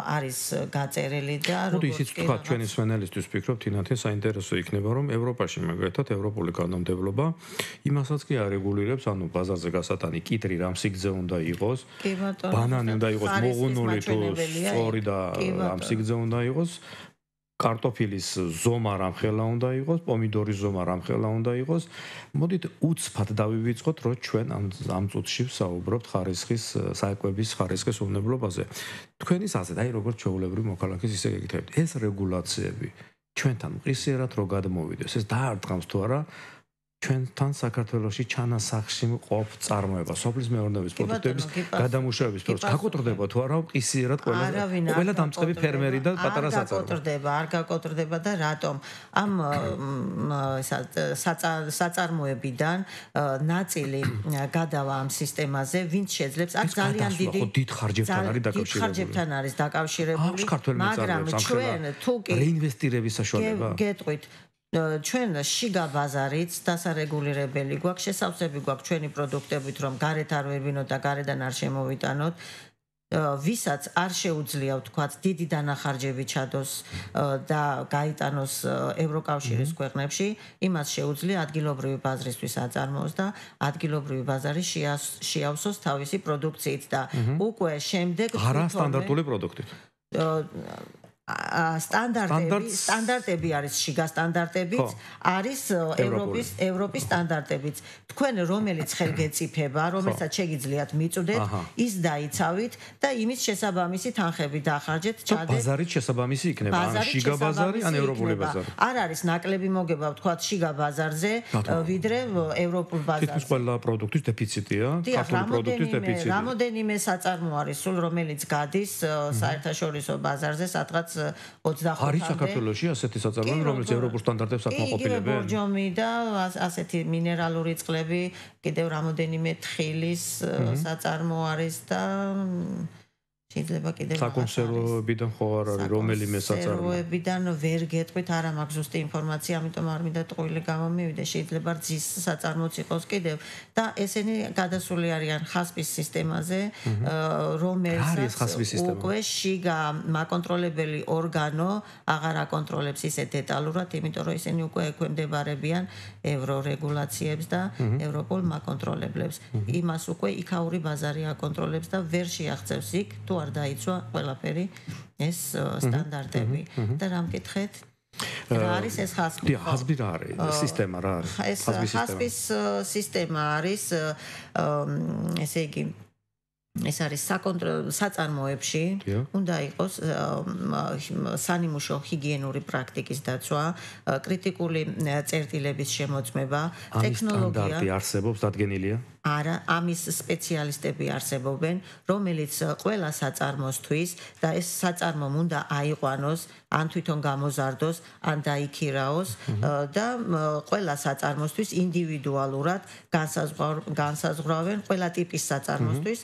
არის გაწერილი და როგორც ისიც თქვა ჩვენი მსმენელისთვის ვფიქრობ, თინათინ საინტერესო იქნება, რომ ევროპაში მაგალითად ევროპული კანონმდებლობა იმასაც კი არეგულირებს, ანუ ბაზარზე გასატანი კიტრი რამ სიგრძე უნდა იყოს, ბანანი უნდა იყოს მოღუნული თუ სწორი და ამ სიგრძე უნდა იყოს, კარტოფილის ზომა რამხელა უნდა იყოს, პომიდორის ზომა რამხელა უნდა იყოს. მოდით უცბად დავივიწყოთ, რომ ჩვენ ამ წუთში ვსაუბრობთ ხარისხის საკვების ხარისხის უვნებლობაზე. თქვენის აზრით, აი როგორც ჩვეულებრივი მოქალაქის ისე გეკითხებით, ეს რეგულაციები ჩვენთან მყისიერად რო გადმოვიდეს, ეს დაარტყამს თუ არა ჩვენთან საქართველოში ჩანასახში მყოფ წარმოება, სოფლის მეურნეობის პროდუქტების გადამუშავების პროცესი გაკოტრდება თუ არა მყისიერად ყველა დამწყები ფერმერი და პატარა საწარმო. არ გაკოტრდება და რატომ? ამ საწარმოებიდან ნაწილი გადავა ამ სისტემაზე, ვინც შეძლებს, აქ ძალიან დიდ ხარჯებთან არის დაკავშირებული, მაგრამ ჩვენ თუ კი რეინვესტირების საშუალება გეტყვით ჩვენ შიგა ბაზარიც დასარეგულირებელი გვაქვს, შესავსები გვაქვს ჩვენი პროდუქტებით, რომ გარეთ არ ვერვინოთ და გარედან არ შემოვიტანოთ. ვისაც არ შეუძლია ვთქვათ დიდი დანახარჯები ჩადოს და გაიტანოს ევროკავშირის ქვეყნებში, იმას შეუძლია ადგილობრივი ბაზრისთვის აწარმოოს და ადგილობრივი ბაზარი შეავსოს თავისი პროდუქციით და უკვე შემდეგ არა სტანდარტული პროდუქტით. სტანდარტები არის შიგა სტანდარტებიც, არის ევროპის სტანდარტებიც. თქვენ რომელიც ხელგეწიფება, რომელსაც შეგიძლიათ მიწვდეთ, ის დაიცავით და იმის შესაბამისი თანხები დახარჯეთ, ჩადეთ. ბაზარით შესაბამისი იქნება, ან შიგა ბაზარი, ან ევროპული ბაზარი. არ არის ნაკლები მოგება, ვთქვათ, შიგა ბაზარზე, ვიდრე ევროპულ ბაზარზე. თითქმის ყველა პროდუქტის დეფიციტია, ქართული პროდუქტის დეფიციტი. რამოდენიმე საწარმო არის, სულ რომელიც გადის საერთაშორისო ბაზარზე, სადღაც 25-მდე. არის საქართველოში ასეთი საწარმოები, რომელიც ევროპულ სტანდარტებს აკმაყოფილებენ? იგივე ბორჯომი და ასეთი მინერალური წყლები, კიდევ რამოდენიმე თხილის საწარმო არის და შეიძლება კიდევ საკონსერვოებიდან ხო არ არის რომელიმე საწარმო. კონსერვოებიდან ვერ გეტყვით, არა მაქვს ზუსტი ინფორმაცია, ამიტომ არ მინდა ტყუილი გამომივიდე, შეიძლება რძის საწარმოც იყოს კიდევ და ესენი გადასული არიან ხასპის სისტემაზე, რომელსაც უკვე შიგა მაკონტროლებელი ორგანო აღარ აკონტროლებს ისე დეტალურად, იმიტომ რომ ისინი უკვე ექვემდებარებიან ევრორეგულაციებს და ევროპულ მაკონტროლებლებს. იმას უკვე იქაური ბაზარი აკონტროლებს და ვერ შეაღწევს იქ თუ არ დაიცვა ყველაფერი ეს სტანდარტები და რა მკითხეთ? რა არის ეს ხასპი? ხასპი რა არის? სისტემა რა არის? ეს ხასპის სისტემა არის, ესე იგი ეს არის საწარმოებში უნდა იყოს სანიმუშო ჰიგიენური პრაქტიკის დაცვა, კრიტიკული წერტილების შემოწმება, ტექნოლოგია. სტანდარტი არსებობს, დადგენილია? არა, ამის სპეციალისტები არსებობენ, რომელიც ყველა საწარმოსთვის და ეს საწარმომ უნდა აიყვანოს, ან თვითონ გამოზარდოს, ან დაიქირაოს და ყველა საწარმოსთვის ინდივიდუალურად განსაზღვრავენ ყველა ტიპის საწარმოსთვის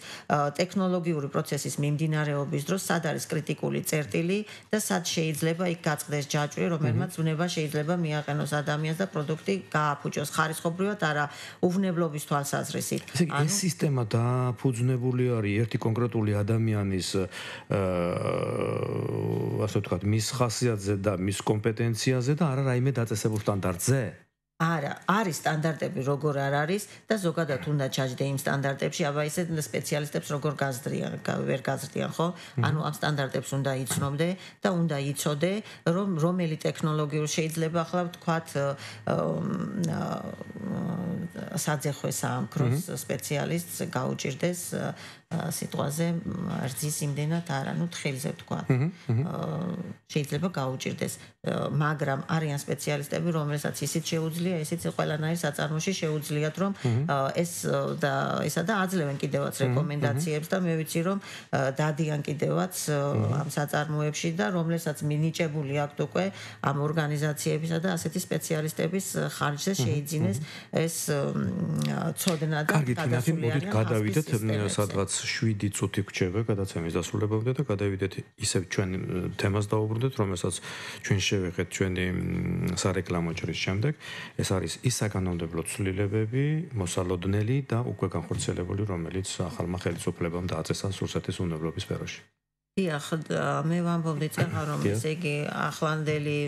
ტექნოლოგიური პროცესის მიმდინარეობის დროს, სად არის კრიტიკული წერტილი და სად შეიძლება იქ გაწყდეს ჯაჭვი, რომელმაც უნება შეიძლება მიაყენოს ადამიანს და პროდუქტი გააფუჭოს ხარისხობრივად, არა უვნებლობის თვალსაზრისით. ეს სისტემა დაფუძნებული არის ერთი კონკრეტული ადამიანის ასე ვთქვათ, მის ხასიათზე და მის კომპეტენციაზე და არა რაიმე დაწესებულ სტანდარტზე? არა, არის სტანდარტები როგორ არ არის და ზოგადად უნდა ჩაჯდე იმ სტანდარტებში, აბა ისე სპეციალისტებს როგორ გაზრდიან, ვერ გაზრდიან, ხო? ანუ ამ სტანდარტებს უნდა იცნობდე და უნდა იცოდე, რომ რომელი ტექნოლოგიურ შეიძლება ახლა ვთქვათ საძეხვე საამქროს სპეციალისტს გაუჭირდეს სიტყვაზე რძის იმდენად არა, ნუ თხილზე ვთქვათ. შეიძლება გაუჭირდეს, მაგრამ არიან სპეციალისტები, რომელსაც ისიც შეუძლია, ისიც ყველანაირ საწარმოში შეუძლიათ, რომ ესა და აძლევენ კიდევაც რეკომენდაციებს და მე ვიცი, რომ დადიან კიდევაც ამ საწარმოებში და რომელსაც მინიჭებული აქვთ უკვე ამ ორგანიზაციებისა და ასეთი სპეციალისტების ხარჯზე შეიძინეს ეს ცოდნა და გადასული არიან. გადავიდეთ სადღაც 7 წუთი გვჭირდება გადაცემის დასრულებამდე და გადავიდეთ ისევ ჩვენ თემას დაუბრუნდეთ, რომელსაც ჩვენ შევეხეთ ჩვენი სარეკლამო ჯრის შემდეგ. ეს არის ის საკანონმდებლო ცვლილებები, მოსალოდნელი და უკვე განხორციელებული, რომელიც ახალმა ხელისუფლებამ დააწესა რუსეთის უნებლობის სფეროში. დიახ, მე ვამბობდი წეღა, რომ ესე იგი ახლანდელი,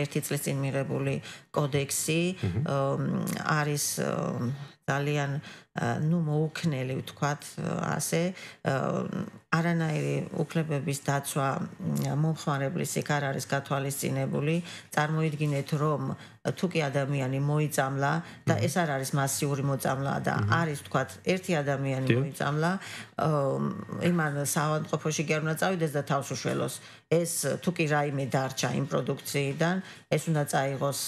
ერთი წლის წინ მიღებული კოდექსი არის ძალიან მოუქნელი, ვთქვათ, ასე არანაირი უფლებების დაცვა მომხმარებლის იქ არ არის გათვალისწინებული. წარმოიდგინეთ, რომ თუ კი ადამიანი მოიწამლა და ეს არ არის მასიური მოწამლა და არის, ვთქვათ, ერთი ადამიანი მოიწამლა, იმან საავადმყოფოში კი არ უნდა წავიდეს და თავს უშველოს. ეს თუ კი რაიმე დარჩა იმ პროდუქციიდან, ეს უნდა წაიღოს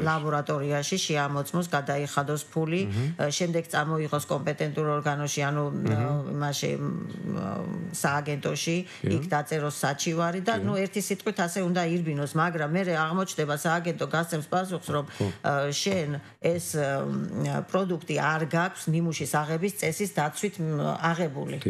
ლაბორატორიაში, შეამოწმოს, გადაიხადოს ფული, შემდეგ წამოიღოს კომპეტენტურ ორგანოში, ანუ იმაში სააგენტოში, იქ დაწეროს საჩივარი და ერთი სიტყვით ასე უნდა ირბინოს, მაგრამ მე აღმოჩნდება სააგენტო გასცემს პასუხს, რომ შენ ეს პროდუქტი არ გაქვს ნიმუშის აღების წესის დაცვით აღებული.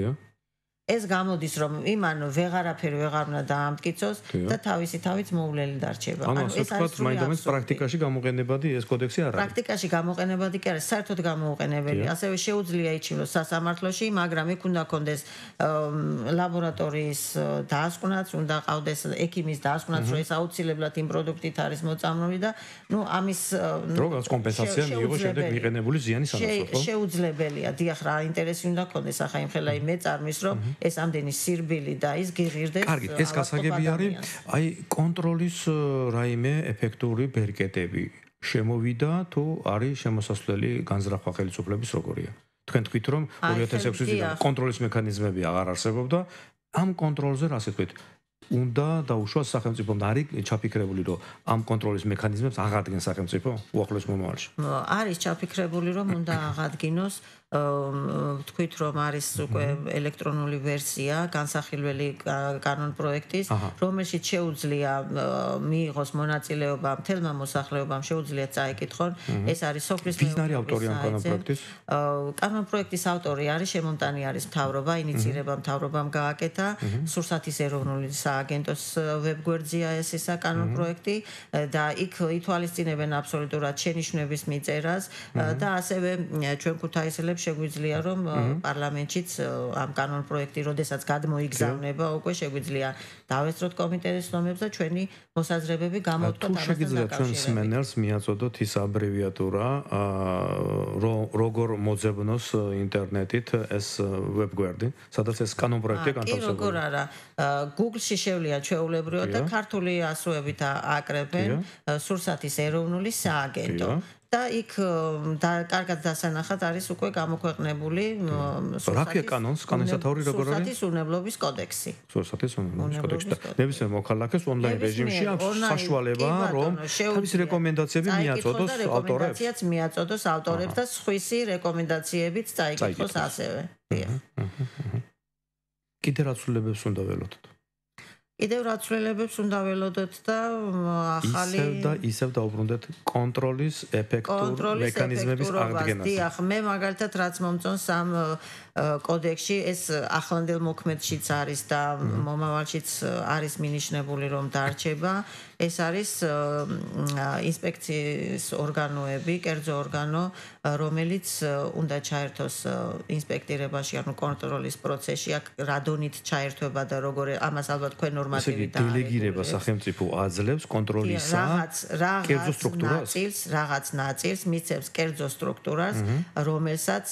ეს გამოდის, რომ იმან ვეღარაფერი ვეღარ უნდა დაამტკიცოს და თავისი თავით მოვლელი დარჩება. ანუ ეს არის მაინდამაინც პრაქტიკაში გამოყენებადი ეს კოდექსი არ არის. პრაქტიკაში გამოყენებადი კი არის, საერთოდ გამოუყენებელი. ასევე შეუძლია იჩივლოს სასამართლოში, მაგრამ იქ უნდა კონდეს ლაბორატორიის დაასკვნაც, უნდა ყავდეს ექიმის დაასკვნაც, რომ ეს აუცილებლად იმ პროდუქტით არის მოწამლული და ამის როგორც კომპენსაცია მიიღო შემდეგ მიყენებული ზიანის ანაცვლოდ, ხო? შეუძლებელია. დიახ, რა ინტერესი უნდა კონდეს ახლა იმ ხელა იმ მეწარმის, რომ ეს ამდენი სირბილი და ის გიღირდეს. კარგი, ეს გასაგები არის, აი კონტროლის რაიმე ეფექტური ბერკეტები შემოვიდა თუ არის შემოსასვლელი განზრახვა ხელისუფლების როგორია? თქვენ თქვით რომ 2006 წლიდან კონტროლის მექანიზმები აღარ არსებობდა, ამ კონტროლზე რა თქვით? უნდა დაუშვას სახელმწიფომ და არის ჩაფიქრებული რომ ამ კონტროლის მექანიზმებს აღადგენს სახელმწიფო უახლოეს მომავალში. არის ჩაფიქრებული რომ უნდა აღადგინოს თქვით რომ არის უკვე ელექტრონული ვერსია განსახილველი კანონპროექტის რომელშიც შეუძლია მიიღოს მონაწილეობა მთელმა მოსახლეობამ შეუძლია წაიკითხონ ეს არის სოფლის მეურნეობის ავტორი ამ კანონპროექტის კანონპროექტის ავტორი არის შემომტანი არის მთავრობა ინიცირება მთავრობამ გააკეთა სურსათის ეროვნული სააგენტოს ვებგვერდზეა ეს კანონპროექტი და იქ ითვალისწინებენ აბსოლუტურად შენიშვნების მიწერას და ასევე ჩვენ ქუთაისელებს შეგვიძლია რომ პარლამენტშიც ამ კანონპროექტი როდესაც გადმოიგზავნება უკვე შეგვიძლია დავესწროთ კომიტეტის ნომრებს და ჩვენი მოსაზრებები გამოვთქვათ ამასთან შეგიძლიათ ჩვენ სმენელს მიაწოდოთ ის აბრევიატურა როგორ მოძებნოს ინტერნეტით ეს ვებგვერდი სადაც ეს კანონპროექტი განთავსებულია კი როგორ არა Google-ში შევლია ჩვეულებრივად და ქართული ასოებით ააკრებენ სურსათის ეროვნული სააგენტო და იქ და კარგად დასანახად არის უკვე გამოქვეყნებული რაკია კანონსათაური როგორ არის სურსათის უნებლობის კოდექსი სურსათის უნებლობის კოდექსი და ნებისმიერ მოქალაქეს ონლაინ რეჟიმში აქვს საშუალება რომ თავის რეკომენდაციები მიაწოდოს ავტორებს რეკომენდაციაც მიაწოდოს ავტორებს და სხვისი რეკომენდაციებიც წაიკითხოს ასევე კიდე რა ცვლილებებს უნდა ველოდოთ კიდევ რა ცვლილებებს უნდა ველოდოთ და ახალი ისევ დაუბრუნდეთ კონტროლის ეფექტურ მექანიზმების აღდგენას. დიახ, მე მაგალითად რაც მომწონს ამ კოდექსში ეს ახლანდელ მოქმედშიც არის და მომავალშიც არის მინიშნებული რომ დარჩება ეს არის ინსპექციის ორგანოები, კერძო ორგანო, რომელიც უნდა ჩაერთოს ინსპექტირებაში, ანუ კონტროლის პროცესში, აქ რადონით ჩაერთვება და როგორ ამას ალბათ თქვენ ნორმატივით დელეგირება სახელმწიფო აძლევს კონტროლისა კერძო სტრუქტურას. რაღაც ნაწილს მიცემს კერძო სტრუქტურას, რომელსაც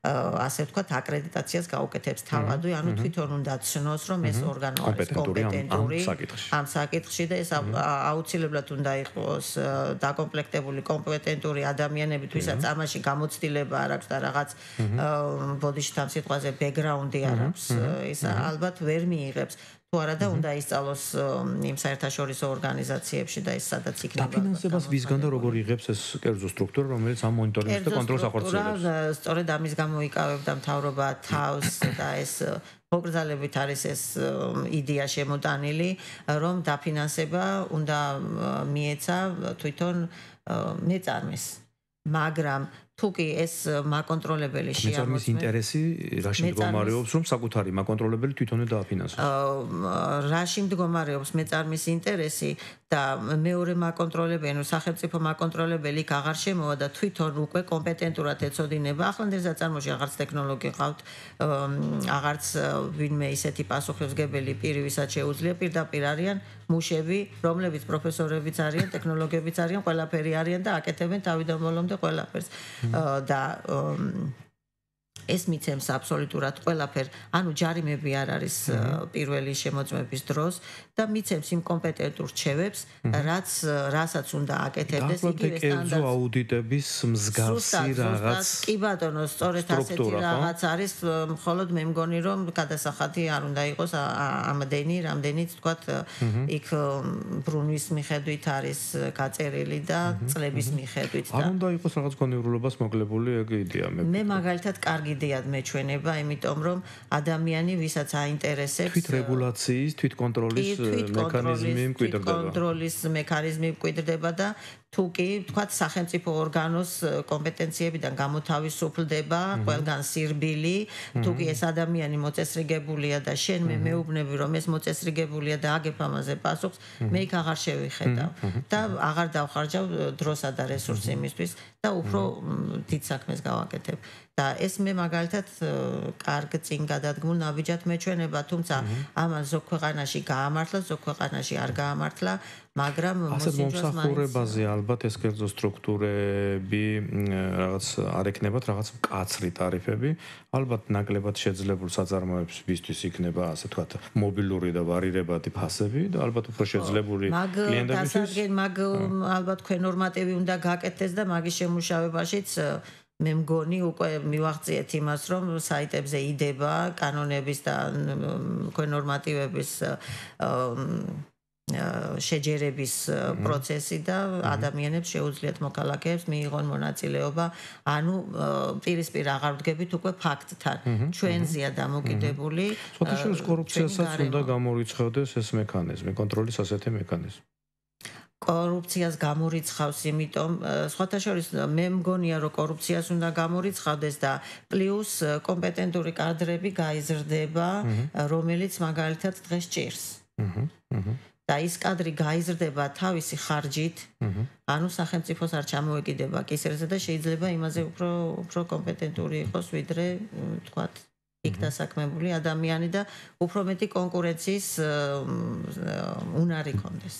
ასე ვთქვათ, აკრედიტაციას გაუკეთებს თავადვე, ანუ თვითონ უნდა ცნოს, რომ ეს ორგანო არის კომპეტენტური ამ საკითხში და ეს აუცილებლად უნდა იყოს დაკომპლექტებული კომპეტენტური ადამიანები, ვისაც ამაში გამოცდილება არ აქვს და რაღაც ბოდიში ამ სიტყვაზე ბექგრაუნდი არ აქვს, ეს ალბათ ვერ მიიღებს. თუ არა და უნდა ისწავლოს იმ საერთაშორისო ორგანიზაციებში და ეს სადაც იქნება. დაფინანსებას ვისგან და როგორ იღებს ეს კერძო სტრუქტურა, რომელიც ამ მონიტორინგს და კონტროლს ახორციელებს? სწორედ ამის გამო იკავებდა მთავრობა თავს და ეს მოგრძალებით არის ეს იდეა შემოტანილი, რომ დაფინანსება უნდა მიეცა თვითონ მეწარმეს. მაგრამ თუ კი ეს მაკონტროლებელი შეამოწმებს მეწარმის ინტერესი რაში მდგომარეობს რომ საკუთარი მაკონტროლებელი თვითონვე დააფინანსოს რაში მდგომარეობს მეწარმის ინტერესი და მეორე მაკონტროლებელი სახელმწიფო მაკონტროლებელი იქ აღარ შემოვა და თვითონ უკვე კომპეტენტურად ეწოდინება ახლანდელ საწარმოში აღარც ტექნოლოგია ყავთ აღარც ვინმე ისეთი პასუხისმგებელი პირი ვისაც შეუძლია პირდაპირ არიან მუშები რომლებიც პროფესორებიც არიან ტექნოლოგიებიც არიან ყველაფერი არიან და აკეთებენ თავიდან ბოლომდე ყველაფერს და ეს მიცემს აბსოლუტურად ყველაფერ, ანუ ჯარიმები არ არის პირველი შემოწმების დროს და მიცემს იმ კომპეტენტურ რჩევებს, რასაც უნდა აკეთებდეს იგივე სტანდარტს. კერძო აუდიტების მსგავსი რაღაც. კი ბატონო, სწორედ ასეთი რაღაც არის, მხოლოდ მე მგონი რომ გადასახადი არ უნდა იყოს რამდენიც თქვათ იქ ბრუნვის მიხედვით არის გაწერილი და წლების მიხედვით და არ უნდა იყოს რაღაც კონიურულობას მოკლებული ეგ იდეა მე. მე მაგალითად კარგი იდეად მეჩვენება, იმიტომ რომ ადამიანი ვისაც აინტერესებს თვით რეგულაციის, თვით კონტროლის მექანიზმი მკვიდრდება. კონტროლის მექანიზმი მკვიდრდება და თუ კი თქვათ სახელმწიფო ორგანოს კომპეტენციებიდან გამოთავისუფლდება ყველგან სირბილი, თუ კი ეს ადამიანი მოწესრიგებულია და შენ მე მეუბნები რომ ეს მოწესრიგებულია და აგებ ამაზე პასუხს, მე იქ აღარ შევიხედავ და აღარ დავხარჯავ დროსა და რესურსს იმისთვის და უფრო დიდ საქმეს გავაკეთებ. და ეს მე მაგალითად კარგ წინ გადადგმულ ნაბიჯად მეჩვენება, თუმცა ამან ზოგ ქვეყანაში გაამართლა, ზოგ ქვეყანაში არ გაამართლა, მაგრამ ასეთ მომსახურებაზე ალბათ ეს კერძო სტრუქტურები რაღაც არ ექნებათ რაღაც მკაცრი ტარიფები, ალბათ ნაკლებად შეძლებულ საწარმოებისთვის იქნება ასე ვთქვათ მობილური და ვარირებადი ფასები და ალბათ უფრო შეძლებული კლიენტებისთვის მაგ ალბათ თქვენ ნორმატივი უნდა გაკეთდეს და მაგის შემუშავებაშიც მე მგონი უკვე მივაღწიეთ იმას, რომ საიტებზე იდება კანონების და თქვენ ნორმატივების შეჯერების პროცესი და ადამიანებს შეუძლიათ მოქალაქეებს მიიღონ მონაწილეობა, ანუ პირისპირ აღარ ვდგებით უკვე ფაქტთან. ჩვენზეა დამოკიდებული. სხვათაშორის კორუფციასაც უნდა გამორიცხავდეს ეს მექანიზმი, კონტროლის ასეთი მექანიზმი. კორუფციას გამორიცხავს, იმიტომ სხვათა შორის მე მგონია რომ კორუფციას უნდა გამორიცხავდეს და პლუს კომპეტენტური კადრები გაიზრდება, რომელიც მაგალითად დღეს ჭირს. და ის კადრი გაიზრდება თავისი ხარჯით, ანუ სახელმწიფოს არ ჩამოეკიდება კისერზე და შეიძლება იმაზე უფრო კომპეტენტური იყოს, ვიდრე თქვათ იქ დასაქმებული ადამიანი და უფრო მეტი კონკურენციის უნარი კონდეს.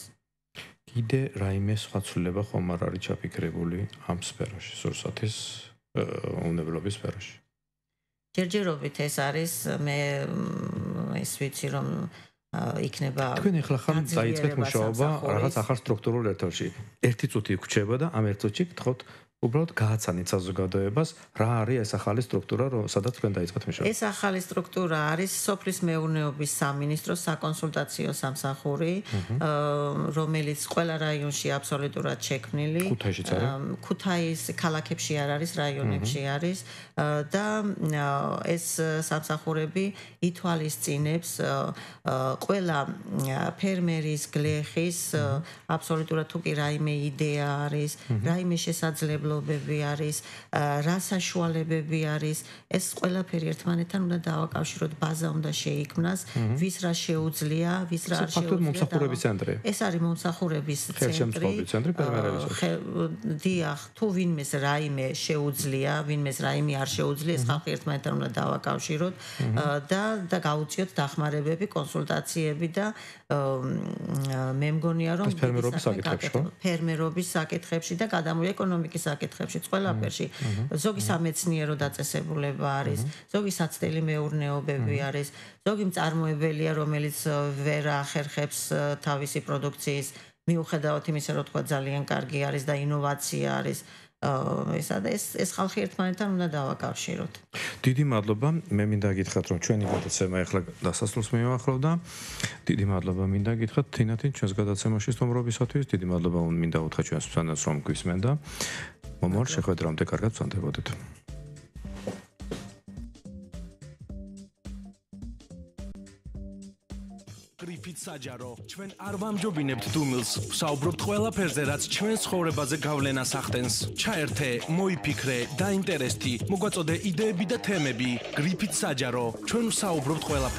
კიდე რაიმე სხვა ცვლილება ხომ არ არის ჩაფიქრებული ამ სფეროში, სურსათის უნებლობის სფეროში? ჯერჯერობით ეს არის, მე ის ვიცი რომ იქნება თქვენ ახლა ხარ დაიწყეთ მუშაობა რაღაც ახალ სტრუქტურულ ერთობაში. ერთი წუთი გრჩება და ამ ერთ წუთში გთხოვთ უბრალოდ გააცანით საზოგადოებას რა არის ეს ახალი სტრუქტურა, სადაც თქვენ დაიწყეთ მუშაობა. ეს ახალი სტრუქტურა არის სოფლის მეურნეობის სამინისტროს საკონსულტაციო სამსახური, რომელიც ყველა რაიონში აბსოლუტურად შექმნილი. ქუთაისშიც არის? ქუთაის ქალაქებში არ არის, რაიონებში არის და ეს სამსახურები ითვალისწინებს ყველა ფერმერის, გლეხის აბსოლუტურად თუ კი რაიმე იდეა არის, რაიმე შესაძლებლობა არის, რა საშუალებები არის, ეს ყველაფერი ერთმანეთთან უნდა დავაკავშიროთ, ბაზა უნდა შეიქმნას, ვის რა შეუძლია, ვის რა არ შეუძლია. მომსახურების ცენტრი. ეს არის მომსახურების ცენტრი. ხელშემწყობი ცენტრი ფერმერებისთვის. დიახ, თუ ვინმეს რაიმე შეუძლია, ვინმეს რაიმე არ შეუძლია, ეს ხალხი ერთმანეთთან უნდა დავაკავშიროთ და გავუწიოთ დახმარებები, კონსულტაციები და მე მგონია რომ ფერმერობის საკითხებში და გადამული ეკონომიკის საკითხებში, ყველაფერში. ზოგი სამეცნიერო დაწესებულება არის, ზოგი საცდელი მეურნეობები არის, ზოგი მწარმოებელია, რომელიც ვერ ახერხებს თავისი პროდუქციის მიუხედავად იმისა, რომ თქვა ძალიან კარგი არის და ინოვაცია არის. ეს ხალხი ერთმანეთთან უნდა დავაკავშიროთ. დიდი მადლობა. მე მინდა გითხრათ, რომ ჩვენი გადაცემა ახლა დასასრულს მიუახლოვდა. დიდი მადლობა მინდა გითხრათ თინათინ ჩვენს გადაცემაში სტუმრობისათვის. დიდი მადლობა მინდა უთხრა ჩვენს მსმენელს, რომ გვისმენდა. მომავალ შეხვედრამდე კარგად ვსანდებოდეთ. გრიფით საჯარო, ჩვენ არ ვამჯობინებთ დუმილს, ვსაუბრობთ ყველაფერზე, რაც ჩვენს ცხოვრებაზე გავლენას ახდენს. ჩაერთე, მოიფიქრე, დაინტერესდი, მოგვაწოდე იდეები და თემები. გრიფით საჯარო, ჩვენ ვსაუბრობთ ყველაფერზე.